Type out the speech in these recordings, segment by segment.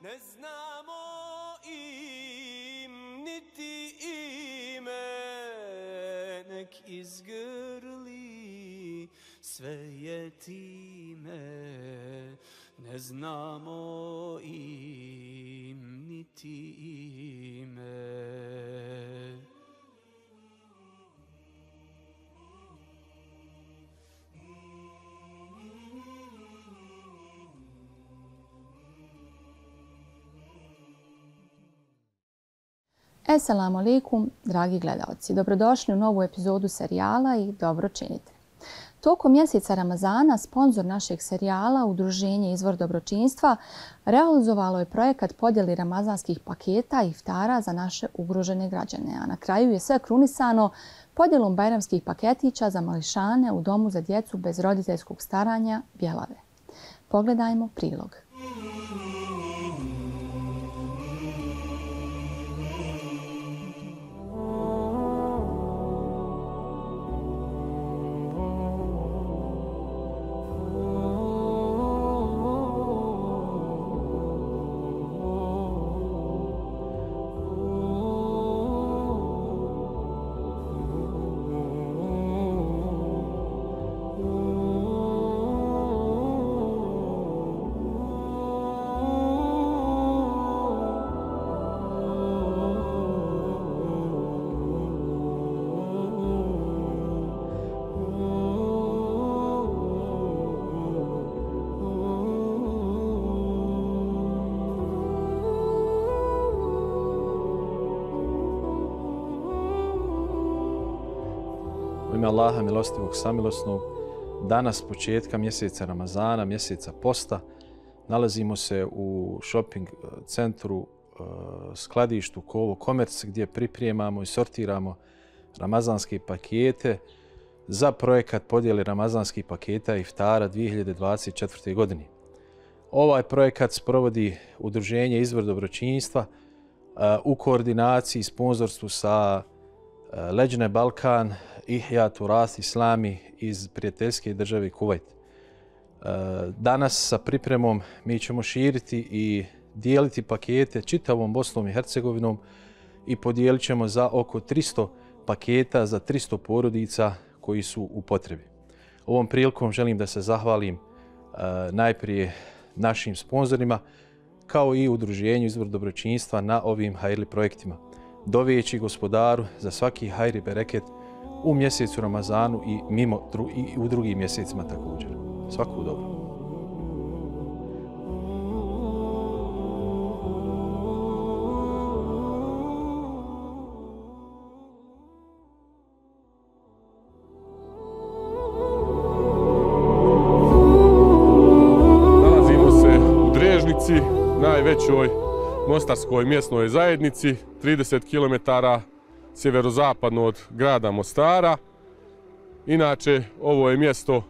ne znamo im niti ime, nek izgrli sve je time, ne znamo im niti ime. Assalamu alaikum, dragi gledalci. Dobrodošli u novu epizodu serijala i dobro činite. Tokom mjeseca Ramazana sponzor našeg serijala, Udruženje Izvor dobročinstva, realizovalo je projekat podjeli ramazanskih paketa i iftara za naše ugrožene građane, a na kraju je sve krunisano podjelom bajramskih paketića za mališane u domu za djecu bez roditeljskog staranja Bjelave. Pogledajmo prilog. U ime Allaha milostivog samilosnog, danas početka mjeseca Ramazana, mjeseca posta, nalazimo se u shopping centru, skladištu Kovo Commerce gdje pripremamo i sortiramo ramazanske pakete za projekat podjele ramazanskih paketa iftara 2024. godine. Ovaj projekat sprovodi Udruženje Izvor dobročinstva u koordinaciji i sponzorstvu sa Leđne Balkan i Ihjatu Rast Islami iz prijateljske države Kuvajt. Danas sa pripremom mi ćemo širiti i dijeliti pakete čitavom Bosnom i Hercegovinom i podijelit ćemo za oko 300 paketa za 300 porodica koji su u potrebi. Ovom prilikom želim da se zahvalim najprije našim sponzorima kao i Udruženju Izvor dobročinstva na ovim hajrli projektima, dovijeći Gospodaru za svaki hajr i bereket u mjesecu Ramazanu i i u drugim mjesecima također. Svaku dobro. Nalazimo se u Drežnici, najvećoj mostarskoj mjesnoj zajednici, 30 km sjeverozapadno od grada Mostara. Inače, ovo je mjesto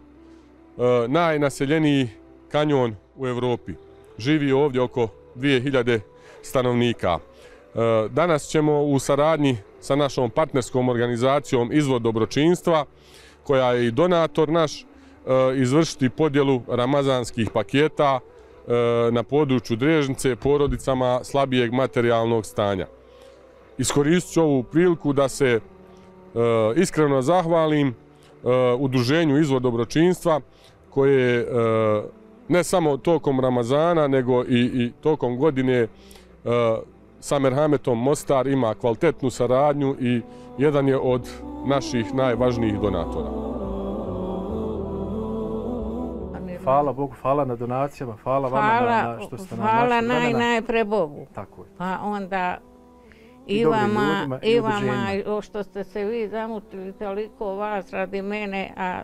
najnaseljeniji kanjon u Europi. Živi ovdje oko 2000 stanovnika. Danas ćemo u saradnji sa našom partnerskom organizacijom Izvor dobročinstva, koja je i donator naš, izvršiti podjelu ramazanskih paketa na području Drežnice porodicama slabijeg materijalnog stanja. Iskoristit ću ovu priliku da se iskreno zahvalim Udruženju Izvor dobročinstva koje ne samo tokom Ramazana nego i tokom godine sa Merhametom Mostar ima kvalitetnu saradnju i jedan je od naših najvažnijih donatora. Hvala Bogu, hvala na donacijama, hvala vama na što ste nam hvala našli vremena. najpre Bogu. Tako je. Pa onda I i dobrim vama, ljudima, i i vama udruženjima. što ste se vi zamutili toliko vas radi mene, a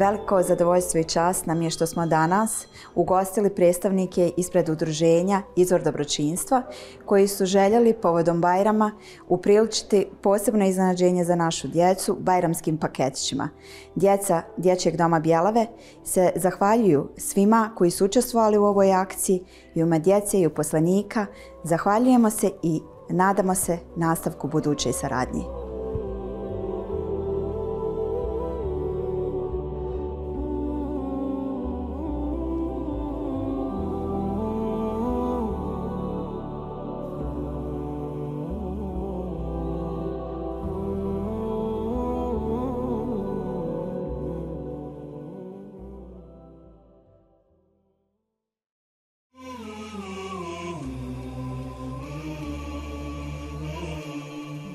Veliko zadovoljstvo i čast nam je što smo danas ugostili predstavnike ispred udruženja Izvor dobročinstva koji su željeli povodom Bajrama upriličiti posebno iznenađenje za našu djecu bajramskim paketićima. Djeca Dječjeg doma Bjelave se zahvaljuju svima koji su učestvovali u ovoj akciji i u ime djece i uposlenika. Zahvaljujemo se i nadamo se nastavku buduće saradnje.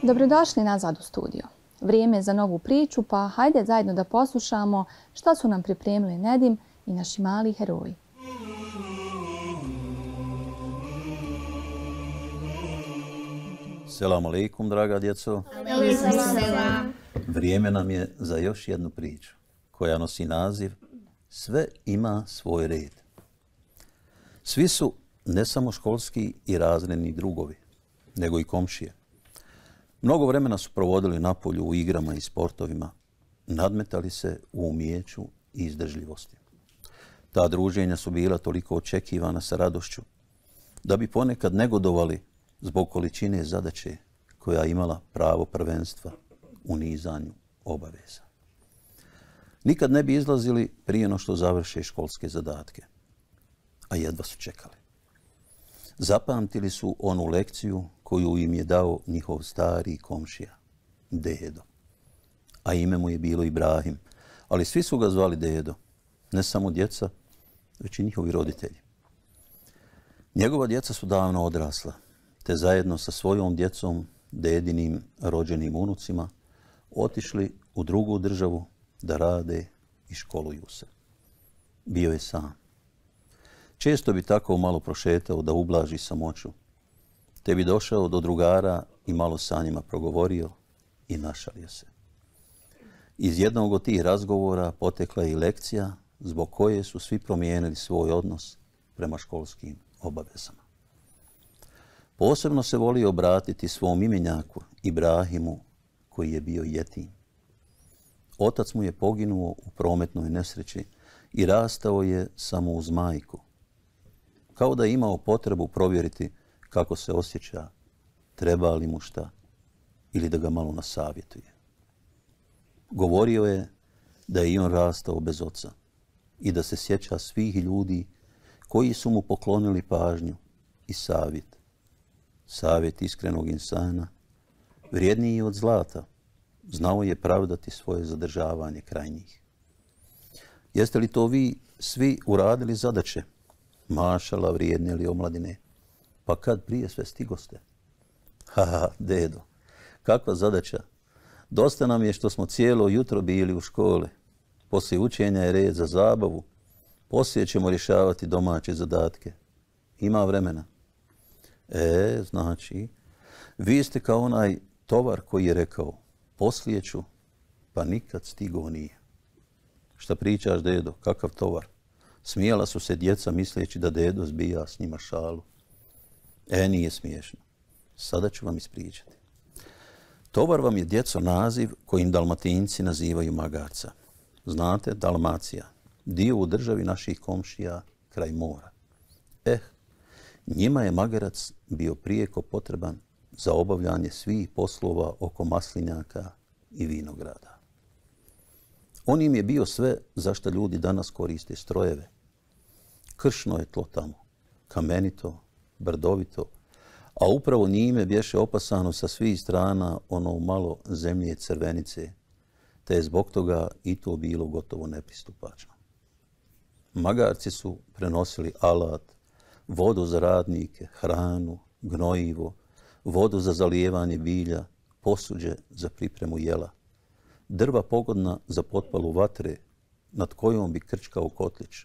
Dobrodošli nazad u studio. Vrijeme je za novu priču, pa hajde zajedno da poslušamo šta su nam pripremili Nedim i naši mali heroji. Selamu alaikum, draga djeco. Vrijeme nam je za još jednu priču koja nosi naziv Sve ima svoj red. Svi su ne samo školski i razredni drugovi, nego i komšije. Mnogo vremena su provodili na polju u igrama i sportovima, nadmetali se u umijeću i izdržljivosti. Ta druženja su bila toliko očekivana sa radošću, da bi ponekad negodovali zbog količine zadaće koja je imala pravo prvenstva u nizanju obaveza. Nikad ne bi izlazili prije no što završe školske zadatke, a jedva su čekali. Zapamtili su onu lekciju koju im je dao njihov stari komšija, Dedo. A ime mu je bilo Ibrahim, ali svi su ga zvali Dedo, ne samo djeca, već i njihovi roditelji. Njegova djeca su davno odrasla, te zajedno sa svojom djecom, dedinim rođenim unucima, otišli u drugu državu da rade i školuju se. Bio je sam. Često bi tako malo prošetao da ublaži samoću, te bi došao do drugara i malo sa njima progovorio i našalio se. Iz jednog od tih razgovora potekla je i lekcija zbog koje su svi promijenili svoj odnos prema školskim obavezama. Posebno se volio obratiti svom imenjaku Ibrahimu koji je bio jetim. Otac mu je poginuo u prometnoj nesreći i rastao je samo uz majku. Kao da je imao potrebu provjeriti kako se osjeća, treba li mu šta ili da ga malo nasavjetuje. Govorio je da je i on rastao bez oca i da se sjeća svih ljudi koji su mu poklonili pažnju i savjet. Savjet iskrenog insana, vrijedniji od zlata, znao je pravdati svoje zadržavanje kraj njih. Jeste li to vi svi uradili zadaće? Mašala, vrijedne li omladine? Pa kad prije sve stigoste? Haha, Dedo, kakva zadaća? Dosta nam je što smo cijelo jutro bili u škole. Poslije učenja je red za zabavu. Poslije ćemo rješavati domaće zadatke. Ima vremena. Znači, vi ste kao onaj tovar koji je rekao, poslije ću, pa nikad stigo nije. Šta pričaš, Dedo, kakav tovar? Smijala su se djeca misleći da Dedo zbija s njima šalu. Nije smiješno. Sada ću vam ispričati. Tovar vam je, djeco, naziv kojim Dalmatinci nazivaju magarca. Znate, Dalmacija, dio u državi naših komšija kraj mora. Njima je magarac bio prijeko potreban za obavljanje svih poslova oko maslinjaka i vinograda. On im je bio sve za što ljudi danas koriste strojeve. Kršno je tlo tamo, kamenito, brdovito, a upravo njime bješe opasano sa svih strana ono malo zemlje crvenice, te je zbog toga i to bilo gotovo nepristupačno. Magarci su prenosili alat, vodu za radnike, hranu, gnojivo, vodu za zalijevanje bilja, posuđe za pripremu jela, drva pogodna za potpalu vatre nad kojom bi krčkao kotlić,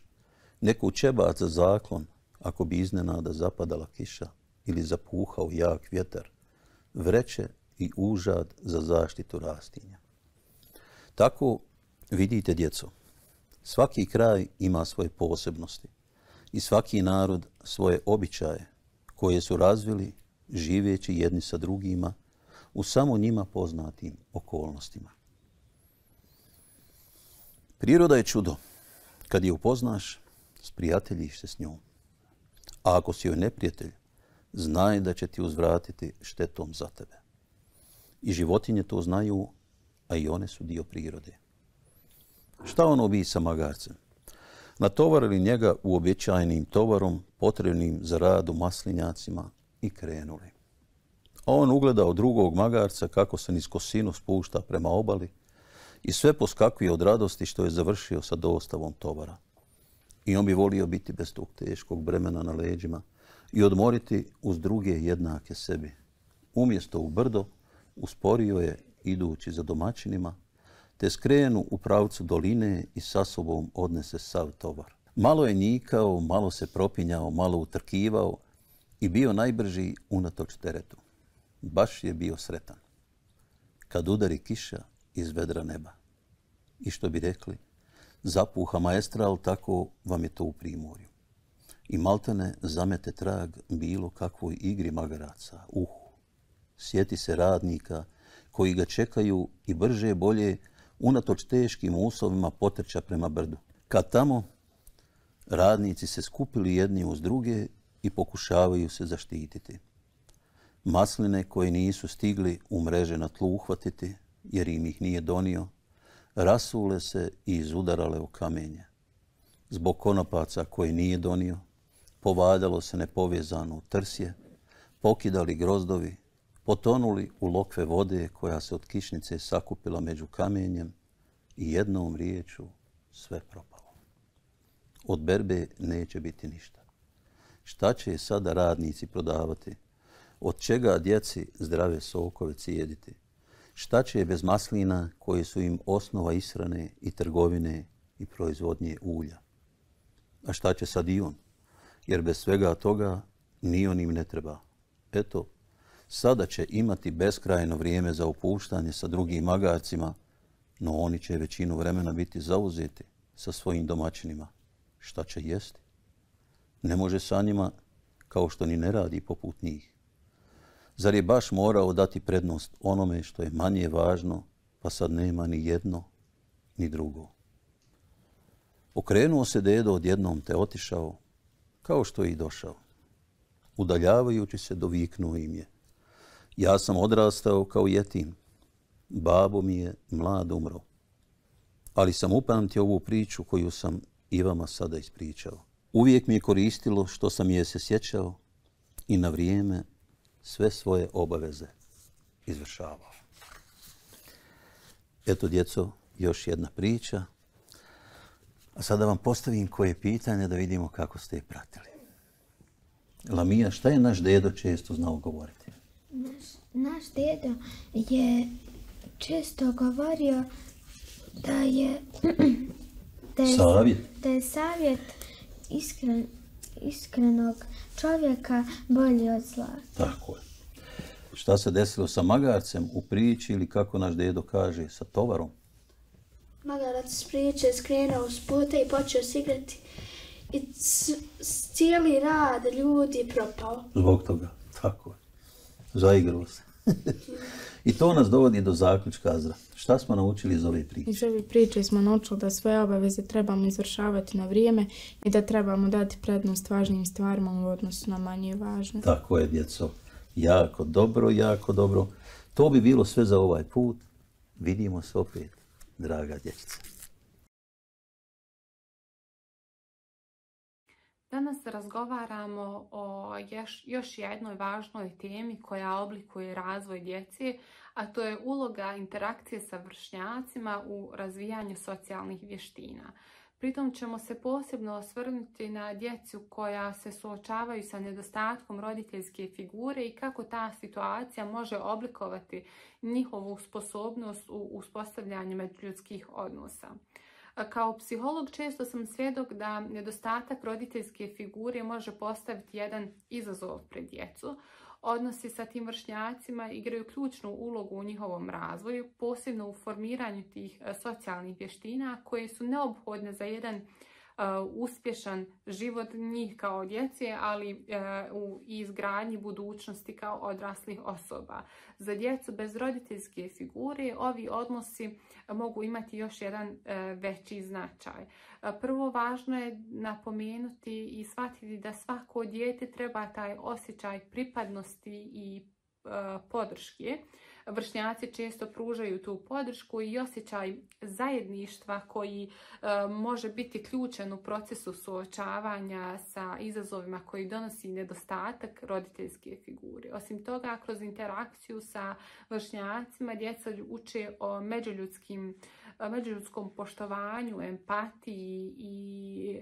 neku čebac za zaklon ako bi iznenada zapadala kiša ili zapuhao jak vjetar, vreće i užad za zaštitu rastinja. Tako, vidite, djeco, Svaki kraj ima svoje posebnosti i svaki narod svoje običaje koje su razvili živeći jedni sa drugima u samo njima poznatim okolnostima. Priroda je čudo. Kad je upoznaš, sprijateljiš se s njom. A ako si joj neprijatelj, znaj da će ti uzvratiti štetom za tebe. I životinje to znaju, a i one su dio prirode. Šta ono bi sa magarcem? Natovarili njega uobičajenim tovarom, potrebnim za rad u maslinjacima i krenuli. A on ugledao drugog magarca kako se niz kosinu spušta prema obali i sve poskakuje od radosti što je završio sa dostavom tovara. I on bi volio biti bez tog teškog bremena na leđima i odmoriti uz druge jednake sebi. Umjesto u brdo, usporio je idući za domaćinima, te skrenu u pravcu doline i sa sobom odnese sav tovar. Malo je njikao, malo se propinjao, malo utrkivao i bio najbrži unatoč teretu. Baš je bio sretan. Kad udari kiša iz vedra neba. I što bi rekli, zapuha maestral, tako vam je to u primorju. I maltene zamete trag bilo kakvoj igri magaraca, sjeti se radnika koji ga čekaju i brže bolje unatoč teškim uslovima potrča prema brdu. Kad tamo, radnici se skupili jedni uz druge i pokušavaju se zaštititi. Masline koje nisu stigli u mreže na tlu uhvatiti, jer im ih nije donio, rasule se i izudarale u kamenje. Zbog konopaca koje nije donio, povadalo se nepovezano u trsje, pokidali grozdovi, potonuli u lokve vode koja se od kišnice sakupila među kamenjem i jednom riječu sve propalo. Od berbe neće biti ništa. Šta će sada radnici prodavati? Od čega djeci zdrave sokove cijediti? Šta će bez maslina koje su im osnova ishrane i trgovine i proizvodnje ulja? A šta će sad i on? Jer bez svega toga ni on im ne treba. Eto, sada će imati beskrajno vrijeme za opuštanje sa drugim magarcima, no oni će većinu vremena biti zauzeti sa svojim domaćinima. Šta će jesti? Ne može sa njima, kao što ni ne radi poput njih. Zar je baš morao dati prednost onome što je manje važno, pa sad nema ni jedno, ni drugo? Okrenuo se dedo odjednom te otišao, kao što je i došao. Udaljavajući se doviknuo im je: ja sam odrastao kao jetim, babo mi je mlad umro. Ali sam upamtio ovu priču koju sam i vama sada ispričao. Uvijek mi je koristilo što sam je se sjećao i na vrijeme sve svoje obaveze izvršavao. Eto, djeco, još jedna priča. A sada vam postavim koje pitanje da vidimo kako ste je pratili. Lamija, šta je naš dedo često znao govoriti? Naš dedo je često govorio da je savjet iskrenog čovjeka bolji od zla. Tako je. Šta se desilo sa magarcem u priči ili kako naš dedo kaže sa tovarom? Magarac s priče skrenuo s puta i počeo se igrati i cijeli rad ljudi propao. Zbog toga, tako je. Zaigrao se. I to nas dovodi do zaključka, Azra. Šta smo naučili iz ove priče? Iz ove priče smo naučili da sve obaveze trebamo izvršavati na vrijeme i da trebamo dati prednost važnim stvarima u odnosu na manje važne. Tako je, djeco. Jako dobro, jako dobro. To bi bilo sve za ovaj put. Vidimo se opet, draga dječica. Danas razgovaramo o još jednoj važnoj temi koja oblikuje razvoj djece, a to je uloga interakcije sa vršnjacima u razvijanju socijalnih vještina. Pritom ćemo se posebno osvrnuti na djecu koja se suočavaju sa nedostatkom roditeljske figure i kako ta situacija može oblikovati njihovu sposobnost u uspostavljanju međuljudskih odnosa. Kao psiholog često sam svjedok da nedostatak roditeljske figure može postaviti jedan izazov pred djecu, Odnosi sa tim vršnjacima igraju ključnu ulogu u njihovom razvoju, posebno u formiranju tih socijalnih vještina koje su neophodne za jedan uspješan život njih kao djece, ali u izgradnji budućnosti kao odraslih osoba. Za djecu bez roditeljske figure ovi odnosi mogu imati još jedan veći značaj. Prvo, važno je napomenuti i shvatiti da svako dijete treba taj osjećaj pripadnosti i podrške. Vršnjaci često pružaju tu podršku i osjećaj zajedništva koji može biti ključan u procesu suočavanja sa izazovima koji donosi nedostatak roditeljske figure. Osim toga, kroz interakciju sa vršnjacima djeca uče o međuljudskom poštovanju, empatiji i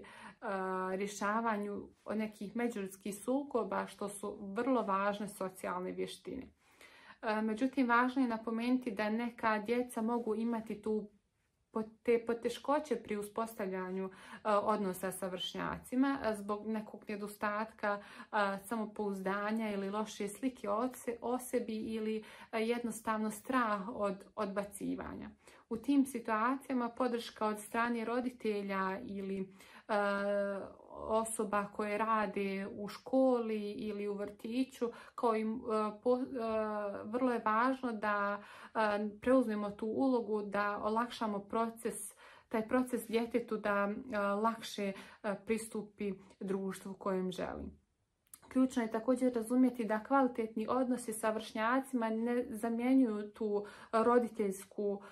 rješavanju nekih međuljudskih sukoba, što su vrlo važne socijalne vještine. Međutim, važno je napomenuti da neka djeca mogu imati te poteškoće pri uspostavljanju odnosa sa vršnjacima zbog nekog nedostatka samopouzdanja ili loše slike o sebi ili jednostavno strah od odbacivanja. U tim situacijama podrška od strane roditelja ili osoba koje rade u školi ili u vrtiću, kao i vrlo je važno da preuzmemo tu ulogu, da olakšamo taj proces djetetu da lakše pristupi društvu kojem želi. Ključno je također razumjeti da kvalitetni odnosi sa vršnjacima ne zamjenjuju tu roditeljsku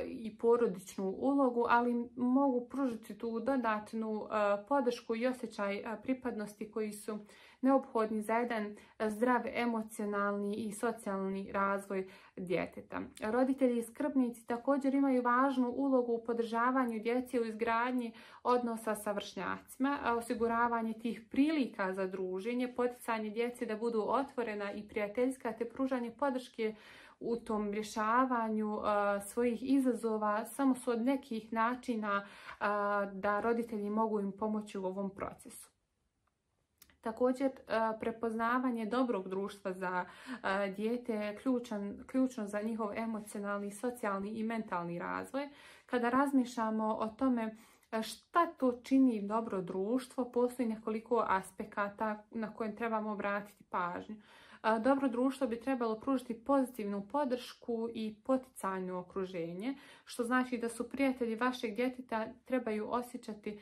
i porodičnu ulogu, ali mogu pružiti tu dodatnu podršku i osjećaj pripadnosti koji su neophodni za jedan zdrav emocionalni i socijalni razvoj djeteta. Roditelji i skrbnici također imaju važnu ulogu u podržavanju djece u izgradnji odnosa sa vršnjacima, osiguravanje tih prilika za druženje, poticanje djece da budu otvorena i prijateljska, te pružanje podrške u tom rješavanju svojih izazova samo su od nekih načina da roditelji mogu im pomoći u ovom procesu. Također, prepoznavanje dobrog društva za dijete je ključno za njihov emocionalni, socijalni i mentalni razvoj. Kada razmišljamo o tome šta to čini dobro društvo, postoji nekoliko aspekata na koje trebamo obratiti pažnju. Dobro društvo bi trebalo pružiti pozitivnu podršku i poticajno okruženje, što znači da su prijatelji vašeg djeteta trebaju osjećati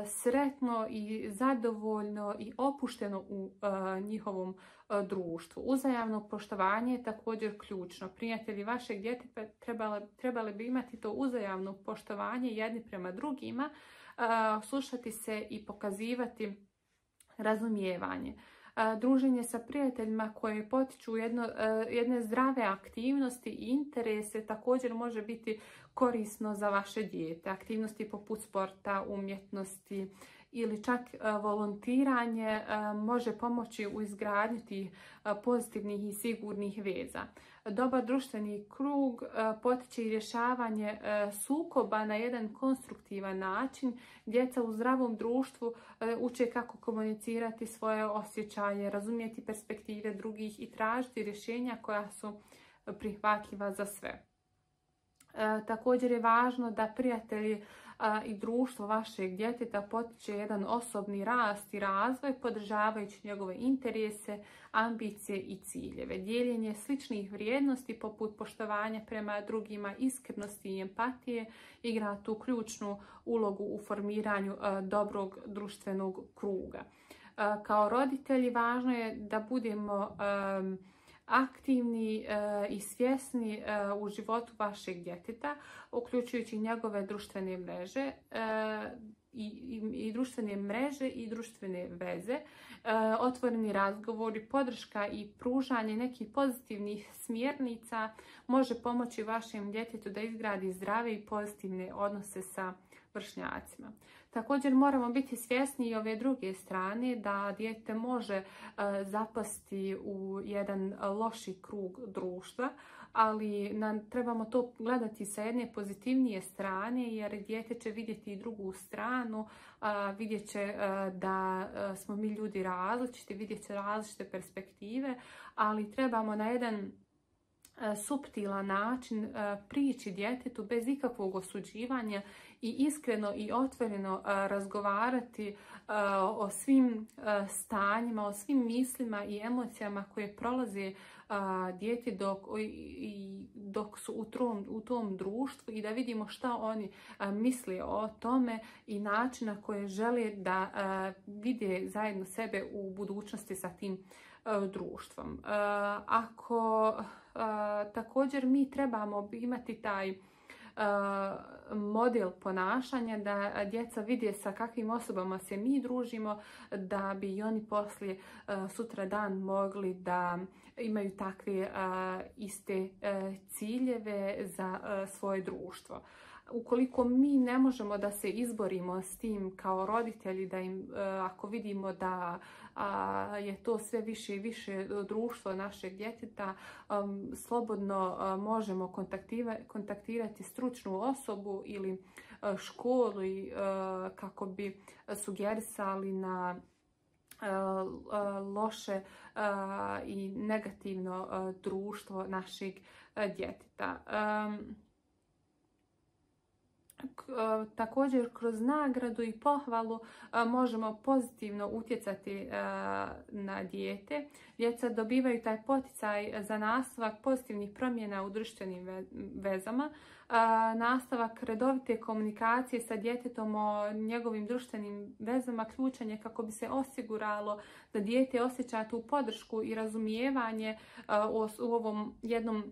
sretno i zadovoljno i opušteno u njihovom društvu. Uzajamno poštovanje je također ključno. Prijatelji vašeg djeteta trebali bi imati to uzajamno poštovanje jedni prema drugima, slušati se i pokazivati razumijevanje. Druženje sa prijateljima koje potiču jedne zdrave aktivnosti i interese također može biti korisno za vaše dijete. Aktivnosti poput sporta, umjetnosti ili čak volontiranje može pomoći u izgradnji tih pozitivnih i sigurnih veza. Dobar društveni krug potiče i rješavanje sukoba na jedan konstruktivan način. Djeca u zdravom društvu uče kako komunicirati svoje osjećaje, razumjeti perspektive drugih i tražiti rješenja koja su prihvatljiva za sve. Također je važno da prijatelji i društvo vašeg djeteta potiče jedan osobni rast i razvoj, podržavajući njegove interese, ambicije i ciljeve. Dijeljenje sličnih vrijednosti poput poštovanja prema drugima, iskrenosti i empatije igra tu ključnu ulogu u formiranju dobrog društvenog kruga. Kao roditelji važno je da budemo aktivni i svjesni u životu vašeg djeteta, uključujući njegove društvene mreže i društvene veze, otvoreni razgovori, podrška i pružanje nekih pozitivnih smjernica može pomoći vašem djetetu da izgradi zdrave i pozitivne odnose sa vršnjacima. Također moramo biti svjesni i ove druge strane da dijete može zapasti u jedan loši krug društva ali trebamo to gledati sa jedne pozitivnije strane, jer dijete će vidjeti i drugu stranu, vidjet će da smo mi ljudi različiti, vidjet će različite perspektive, ali trebamo na jedan suptilan način prići djetetu bez ikakvog osuđivanja i iskreno i otvoreno razgovarati o svim stanjima, o svim mislima i emocijama koje prolaze dijete dok su u tom društvu i da vidimo šta oni misle o tome i način na koje žele da vide zajedno sebe u budućnosti sa tim društvom. Također mi trebamo imati taj model ponašanja da djeca vide sa kakvim osobama se mi družimo, da bi i oni poslije sutra dan mogli da imaju takve iste ciljeve za svoje društvo. Ukoliko mi ne možemo da se izborimo s tim kao roditelji, da im, ako vidimo da je to sve više i više društvo našeg djeteta, slobodno možemo kontaktirati stručnu osobu ili školu kako bi sugerisali na loše i negativno društvo našeg djeteta. Također kroz nagradu i pohvalu možemo pozitivno utjecati na dijete. Djeca dobivaju taj poticaj za nastavak pozitivnih promjena u društvenim vezama. Nastavak redovite komunikacije sa djetetom o njegovim društvenim vezama ključan je kako bi se osiguralo da dijete osjeća tu podršku i razumijevanje u ovom jednom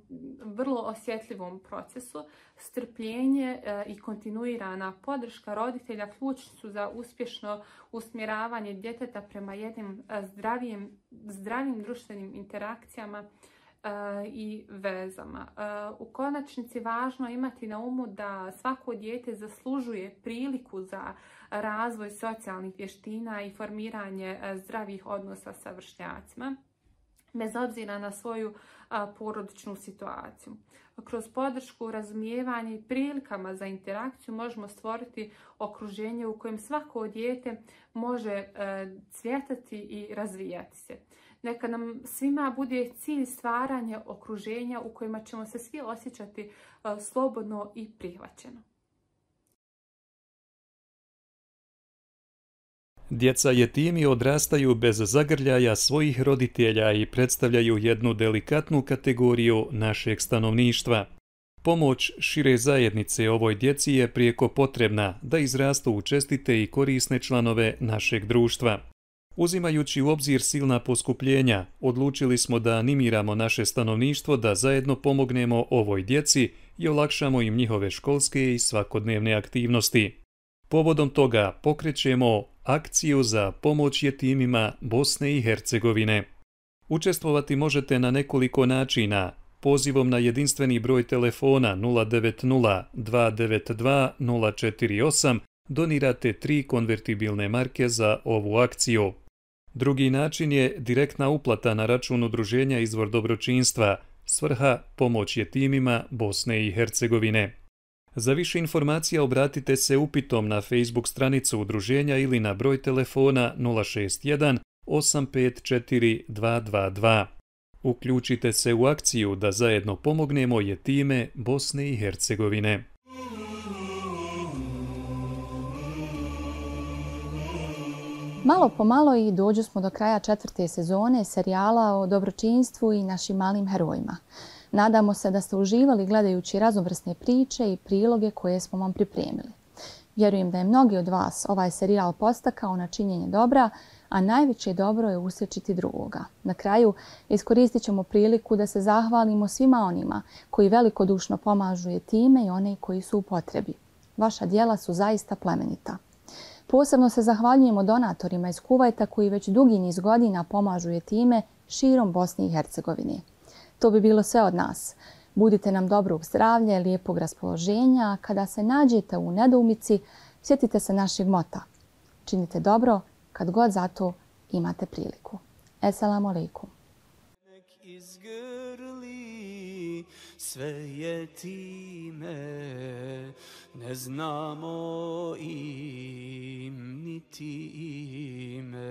vrlo osjetljivom procesu. Strpljenje i kontinuirana podrška roditelja ključni su za uspješno usmjeravanje djeteta prema jednim zdravim društvenim interakcijama i vezama. U konačnici važno je imati na umu da svako dijete zaslužuje priliku za razvoj socijalnih vještina i formiranje zdravih odnosa sa vršnjacima, bez obzira na svoju porodičnu situaciju. Kroz podršku, razumijevanje i prilikama za interakciju možemo stvoriti okruženje u kojem svako dijete može cvjetati i razvijati se. Neka nam svima bude cilj stvaranje okruženja u kojima ćemo se svi osjećati slobodno i prihvaćeno. Djeca jetimi odrastaju bez zagrljaja svojih roditelja i predstavljaju jednu delikatnu kategoriju našeg stanovništva. Pomoć šire zajednice ovoj djeci je prijeko potrebna da izrastu u čestite i korisne članove našeg društva. Uzimajući u obzir silna poskupljenja, odlučili smo da animiramo naše stanovništvo da zajedno pomognemo ovoj djeci i olakšamo im njihove školske i svakodnevne aktivnosti. Povodom toga pokrećemo akciju za pomoć jetimima Bosne i Hercegovine. Učestvovati možete na nekoliko načina. Pozivom na jedinstveni broj telefona 090 292 048 donirate 3 konvertibilne marke za ovu akciju. Drugi način je direktna uplata na račun udruženja Izvor dobročinstva, svrha pomoć jetimima Bosne i Hercegovine. Za više informacija obratite se upitom na Facebook stranicu udruženja ili na broj telefona 061 854 222. Uključite se u akciju da zajedno pomognemo jetime Bosne i Hercegovine. Malo po malo i dođu smo do kraja 4. sezone serijala o dobročinstvu i našim malim herojima. Nadamo se da ste uživali gledajući raznovrsne priče i priloge koje smo vam pripremili. Vjerujem da je mnogi od vas ovaj serijal podstakao na činjenje dobra, a najveće dobro je usrećiti drugoga. Na kraju iskoristit ćemo priliku da se zahvalimo svima onima koji velikodušno pomažu jetime i one koji su u potrebi. Vaša djela su zaista plemenita. Posebno se zahvaljujemo donatorima iz Kuvajta koji već dugi niz godina pomažu jetime širom Bosne i Hercegovine. To bi bilo sve od nas. Budite nam dobrog zdravlja i lijepog raspoloženja, a kada se nađete u nedoumici, sjetite se našeg mota. Činite dobro kad god za to imate priliku. Esselamu alaikum. sve je time, ne znamo im niti ime.